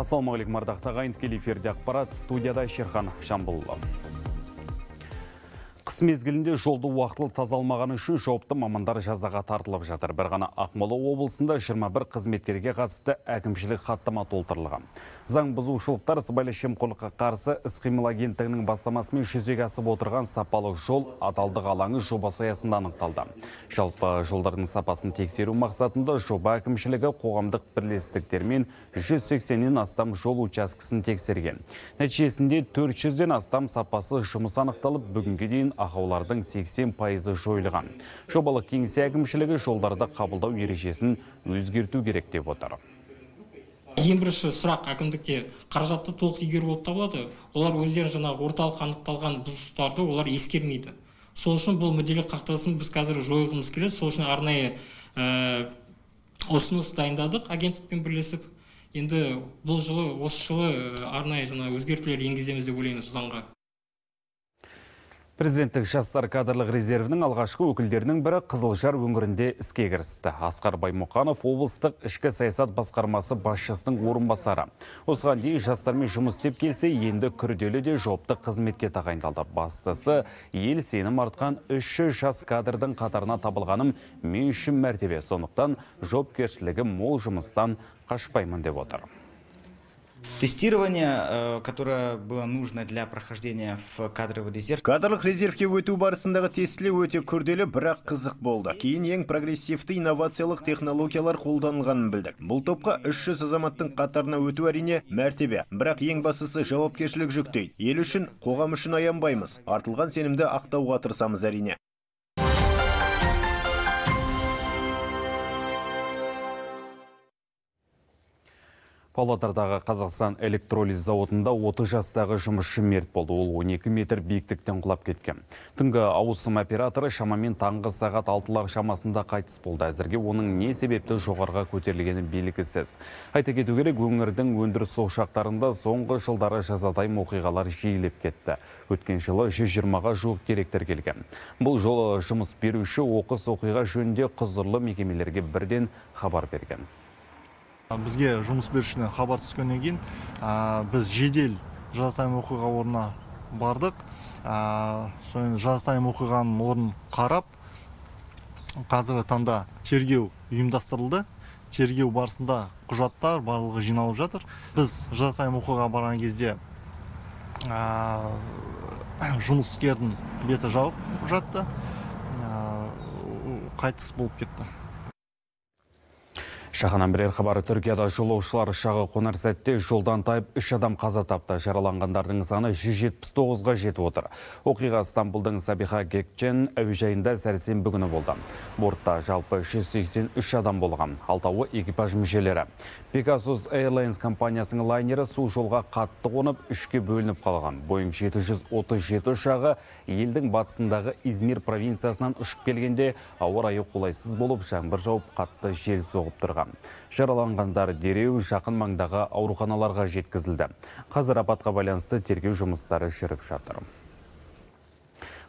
Ассалаумағалейкум ардақты ағайын, тікелей эфирде ақпарат, студияда Шерхан Жамбылұлы. Қыс мезгілінде жолды уақытылы тазалмағаны үшін жауапты мамандар жазаға тартылып жатыр. Бір ғана Ақмола облысында 21 қызметкерге қатысты әкімшілік хаттама толтырылған. Заң бұзушылықтар сыбайлас жемқорлыққа қарсы іс-қимыл агенттігінің бастамасымен жүзеге асып отырған сапалы жол адалдық алаңы жобасы аясында анықталды. Жалпы жолдардың сапасын тексеру мақсатында жоба әкімшілігі қоғамдық бірлестіктермен 180-нен астам жол учаскесін тексерген. Нәтижесінде 400-ден астам сапасы жұмыс анықталып, бүгінге дейін ақаулардың 80% жойылған. Жобалық кеңсе әкімшілігі жолдарды қабылдау ережесін өзгерту керек деп отыр. Ең бірінші сұрақ әкімдікте қаражатты толық игеру болып табылады. Олар өздері жаңағы орталық анықталған бұзушылықтарды олар ескермейді. Сол үшін бұл мүдделік қақтығысын біз қазір жойғымыз келеді. Сол үшін арнайы ұсыныс дайындадық агенттікпен бірлесіп. Енді бұл жылы, осы жылы арнайы өзгертулер енгіземіз деп ойлаймыз заңға. Президенттік жастар кадрлық резервінің алғашқы өкілдерінің бірі Қызылжар өңірінде іске кірісті. Асқар Баймұқанов облыстық ішкі саясат басқармасы басшысының орынбасары. Осыған дейін жастармен жұмыс істеп келсе, енді күрделі де жауапты қызметке тағайындалды. Бастысы, ел сенім артқан 300 жас кадрдың қатарына табылғаным мен үшін мәртебе. Сондықтан жауапкершілігі мол жұмыстан қашпаймын деп отыр. Тестирование, которое было нужно для прохождения в кадровый резерв. Кадрлық резервке өту барысындағы тестілеу өте күрделі, бірақ қызық болды. Кейін ең прогрессивті инновациялық технологиялар қолданылғанын білдік. Бұл топқа 300 азаматтың қатарына өту әрине мәртебе, бірақ ең бастысы жауапкершілік жүктейді. Ел үшін, қоғам үшін аянбаймыз. Артылған сенімді ақтауға тырысамыз әрине. Павлодардағы Қазақстан электролиз зауытында 30 жастағы жұмысшы мерт болды. Ол 12 метр биіктіктен құлап кеткен. Түнгі ауысым операторы шамамен таңғы сағат 6-лар шамасында қайтыс болды. Әзірге оның не себепті жоғарыға көтерілгені белгісіз. Айта кету керек, өңірдің өндіріс ошақтарында соңғы жылдары жазатайым оқиғалар жиілеп кетті. Өткен жылы 120-ға жуық деректер келген. Бұл жолы жұмыс беруші оқыс оқиға жөнінде құзырлы мекемелерге бірден хабар берген. Бізге жұмыс берушіден хабар түскеннен кейін біз жедел жазатайым оқиға орнына бардық. Жазатайым оқиғаның орнын қарап, қазіргі таңда тергеу ұйымдастырылды. Тергеу барысында құжаттар барлығы жиналып жатыр. Біз жазатайым оқиғаға барған кезде жұмыскердің беті жауып жатты, қайтыс болып кетті. Шаханан бірер хабары: Түркияда жолаушылар ұшағы қонар сәтте жолдан тайып 3 адам қаза тапты. Жараланғандардың саны 179-ға жетіп отыр. Оқиға Стамбулдың Сабиха Гекчен әуежайында сәрсенбі күні болды. Бортта жалпы 183 адам болған. Алтауы экипаж мүшелері. Pegasus Airlines компаниясының лайнері су жолға қатты қонып, 3-ке бөлініп қалған. Boeing 737 ұшағы елдің батысындағы Измир провинциясынан ұшып келгенде ауа райы қолайсыз болып, жаңбыр жауып, қатты жел соғып тұрған. Жараланғандар дереу жақын маңдағы ауруханаларға жеткізілді. Қазір апатқа байланысты тергеу жұмыстары жүріп жатыр.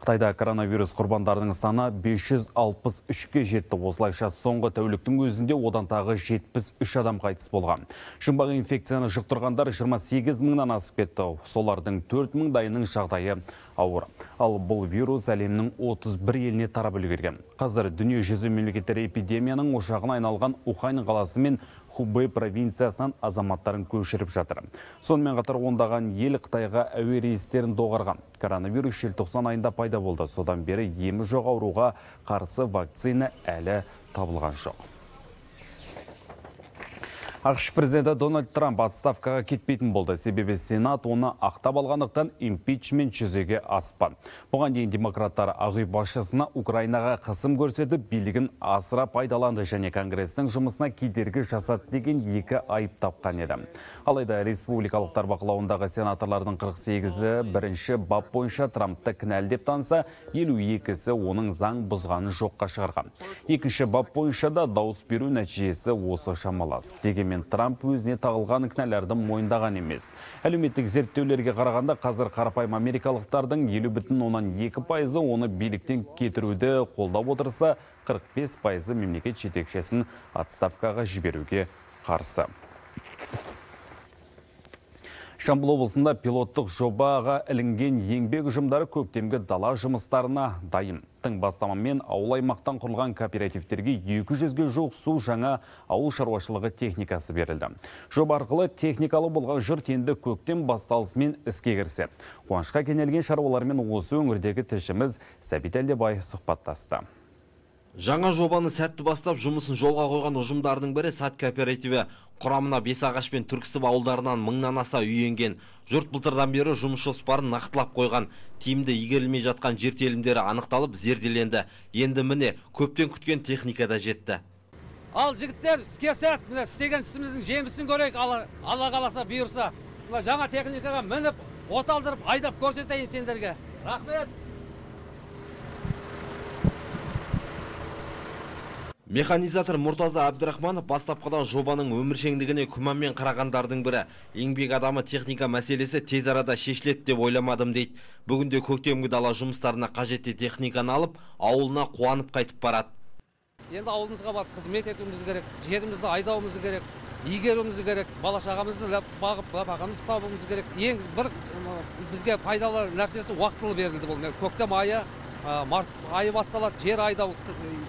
Қытайда коронавирус құрбандарының саны 563-ке жетті. Осылайша соңғы тәуліктің өзінде одан тағы 73 адам қайтыс болған. Жұмбақ инфекцияны жұқтырғандар 28 мыңнан асып кетті. Солардың 4 мыңдайының жағдайы ауыр. Ал бұл вирус әлемнің 31 еліне тарап үлгерген. Қазір дүние жүзі мемлекеттері эпидемияның ошағына айналған Ухань қаласы мен Хубэй провинциясынан азаматтарын көшіріп жатыр. Сонымен қатар ондаған ел Қытайға әуе рейстерін доғарған. Коронавирус желтоқсан айында пайда болды. Содан бері емі жоқ ауруға қарсы вакцина әлі табылған жоқ. ақш президенті Дональд Трамп отставкаға кетпейтін болды. Себебі Сенат оны ақтап алғандықтан импичмент жүзеге аспан. Бұған дейін демократтар Ақ үй басшысына Украинаға қысым көрсетіп, билігін асыра пайдаланды және Конгрестің жұмысына кедергі жасады деген екі айып тапқан еді. Алайда республикалықтар бақылауындағы сенаторлардың 48-і бірінші бап бойынша Трампты кінәлі деп танса, 52-сі оның заң бұзғанын жоққа шығарған. Екінші бап бойынша да дауыс беру нәтижесі осы шамалас. Дегенмен Трамп өзіне тағылған кінәлерді мойындаған емес. Әлеуметтік зерттеулерге қарағанда қазір қарапайым америкалықтардың 50,2% оны биліктен кетіруді қолдап отырса, 45% мемлекет жетекшісін отставкаға жіберуге қарсы. Жамбыл облысында пилоттық жобаға ілінген еңбек ұжымдары көктемгі дала жұмыстарына дайын. Тың бастамамен ауыл аймақтан құрылған кооперативтерге 200-ге жуық су жаңа ауыл шаруашылығы техникасы берілді. Жоба арқылы техникалы болған жұрт енді көктем басталысымен іске кірсе. Қуанышқа кенелген шаруалармен осы өңірдегі тілшіміз Сәбит Әлдебай сұхбаттасты. Жаңа жобаны сәтті бастап жұмысын жолға қойған ұжымдардың бірі Сат кооперативі. Құрамына Бесағаш пен Түрксіб ауылдарынан 1000-нан аса үй енген. Жұрт былтырдан бері жұмыс жоспарын нақтылап қойған. Тиімді игерілмей жатқан жер телімдері анықталып зерделенді. Енді міне көптен күткен техника да жетті. Ал жігіттер, іске сәт, міне істеген ісіміздің жемісін көрейік, Алла қаласа бұйырса. Жаңа техникаға мініп, оталдырып, айдап көрсетейін сендерге. Рахмет. Механизатор Мұртаза Абдрахманов бастапқыдан жобаның өміршеңдігіне күмәнмен қарағандардың бірі. Еңбек адамы техника мәселесі тез арада шешіледі деп ойламадым дейді. Бүгінде көктемгі дала жұмыстарына қажетті техниканы алып, ауылына қуанып қайтып барады. Енді ауылымызға барып қызмет етуіміз керек, жерімізді айдауымыз керек, игеруіміз керек, бала шағамызды бағып бағамыз табуымыз керек. Ең бір бізге пайдалы нәрсесі уақытылы берілді бұл. Көктем айы, март айы басталады, жер айдау,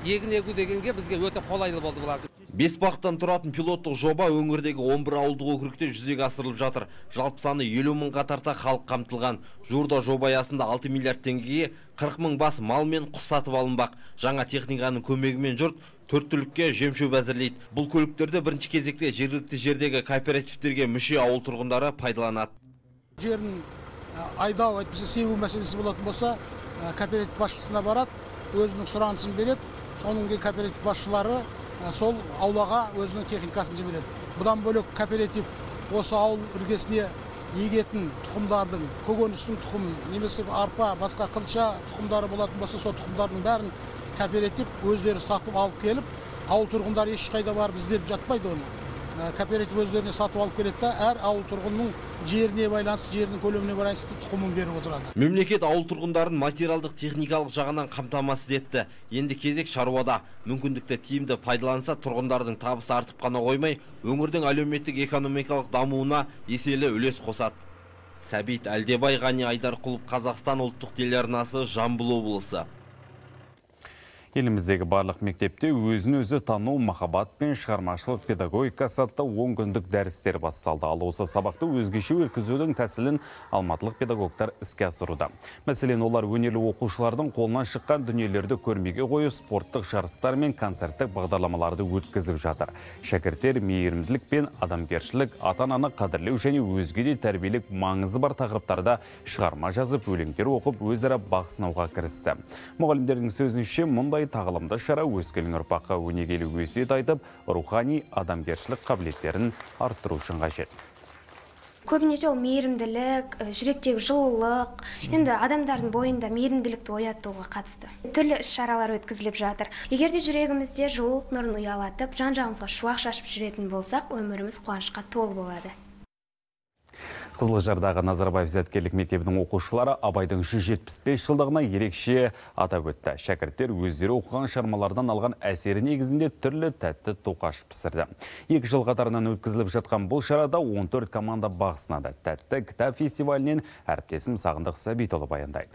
егін егу дегенге бізге өте қолайлы болды бұлар. 5 бағыттан тұратын пилоттық жоба өңірдегі 11 ауылдық округте жүзеге асырылып жатыр. Жалпы саны 50 мыңға тарта халық қамтылған. Жуырда жоба аясында 6 миллиард теңгеге 40 мың бас мал мен құс сатып алынбақ. Жаңа техниканың көмегімен жұрт 4 түлікке жем-шөп әзірлейді. Бұл көліктерді бірінші кезекте жергілікті жердегі кооперативтерге мүше ауыл тұрғындары пайдаланады. Жерін айдау, әйтпесе себу мәселесі болатын болса, кооператив басшысына барады, өзінің сұранысын береді. Соның кейін кооператив басшылары сол аулаға өзінің техникасын жібереді. Бұдан бөлек кооператив осы ауыл іргесіне егетін тұқымдардың, көкөністің тұқымын, немесе арпа, басқа қылша тұқымдары болатын болса, сол тұқымдардың бәрін кооператив өздері сатып алып келіп, ауыл тұрғындары ешқайда барып іздеп жатпайды оны. Кооператив өздеріне сатып алып келеді да, әр ауыл тұрғынның жеріне байланысты, жерінің көлеміне байланысты тұқымын беріп отырады. Мемлекет ауыл тұрғындарын материалдық техникалық жағынан қамтамасыз етті. Енді кезек шаруада. Мүмкіндікті тиімді пайдаланса, тұрғындардың табысы артып қана қоймай, өңірдің әлеуметтік экономикалық дамуына еселі үлес қосады. Сәбит Әлдебай, Ғани Айдарқұлов, Қазақстан ұлттық телеарнасы, Жамбыл облысы. Еліміздегі барлық мектепте өзін-өзі тану, махаббат пен шығармашылық педагогикасы атты 10 күндік дәрістер басталды. Ал осы сабақты өзгеше өткізудің тәсілін алматылық педагогтар іске асыруда. Мәселен, олар өнерлі оқушылардың қолынан шыққан дүниелерді көрмеге қойып, спорттық жарыстар мен концерттік бағдарламаларды өткізіп жатыр. Шәкірттер мейірімділік пен адамгершілік, ата-ананы қадірлеу және өзге де тәрбиелік маңызы бар тақырыптарда шығарма жазып, өлеңдер оқып, өзара бақ сынауға кірісті. Мұғалімдердің сөзінше, мұндай тағылымды шара өскелең ұрпаққа өнегелі өсиет айтып, рухани адамгершілік қабілеттерін арттыру үшін қажет. Көбінесе ол мейірімділік, жүректегі жылулық, енді адамдардың бойында мейірімділікті оятуға қатысты. Түрлі іс-шаралар өткізіліп жатыр. Егер де жүрегімізде жылулық нұрын ұялатып, жан-жағымызға шуақ шашып жүретін болсақ, өміріміз қуанышқа толы болады. Қызылжардағы Назарбаев зияткерлік мектебінің оқушылары Абайдың 175 жылдығына ерекше атап өтті. Шәкірттер өздері оқыған шығармалардан алған әсері негізінде түрлі тәтті тоқаш пісірді. 2 жыл қатарынан өткізіліп жатқан бұл шарада 14 команда бақ сынады. Тәтті кітап фестивалінен әріптесім Сағындық Сәбитұлы баяндайды.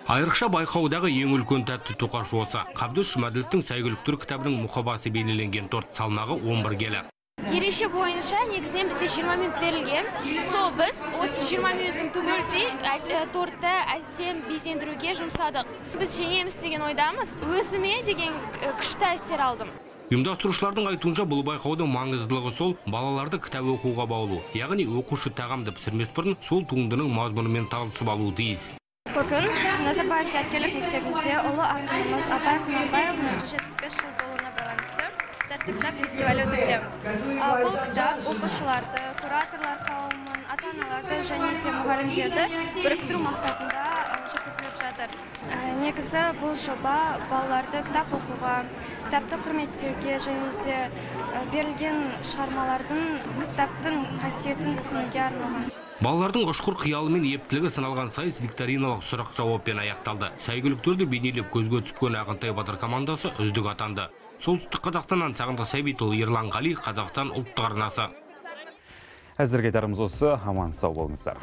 Айрықша байқаудағы ең үлкен тәтті тоқаш осы. Қабдыш Жұмаділовтің Сәйгүліктер кітабының мұқабасы бейнеленген торт салмағы 11 келі. Ереже бойынша негізінен бізде 20 минут берілген. Сол біз осы 20 минуттың түгелдей тортты әсем безендіруге жұмсадық. Біз жеңеміз деген ойдамыз. Өзіме деген күшті әсер алдым. Ұйымдастырушылардың айтуынша бұл байқаудың маңыздылығы сол балаларды кітап оқуға баулу. Яғни оқушы тағамды пісірмес бұрын сол туындының мазмұнымен танысып алуы тиіс. Бүгін Назарбаев зияткерлік мектебінде ұлы ақынымыз Абай Құнанбаевның 175 жыл толуына байланысты тәтті кітап фестивалі өтуде. Бұл кітап оқушыларды, кураторлар қауымын, ата-аналарды және де мұғалімдерді біріктіру мақсатында жүргізіліп жатыр. Негізі бұл жоба балаларды кітап оқуға, кітапты құрметтеуге және де берілген шығармалардың кітаптың қасиетін түсінуге арналған. Балалардың ұшқыр қиялы мен ептілігі сыналған сайыс викториналық сұрақ жауаппен аяқталды. Сәйгүліктерді бейнелеп көзге түскен Ағынтай Батыр командасы үздік атанды. Солтүстік Қазақстаннан Сағындық Сәбитұлы, Ерлан Қали, Қазақстан ұлттық арнасы. Әзірге айтарымыз осы, аман сау болыңыздар.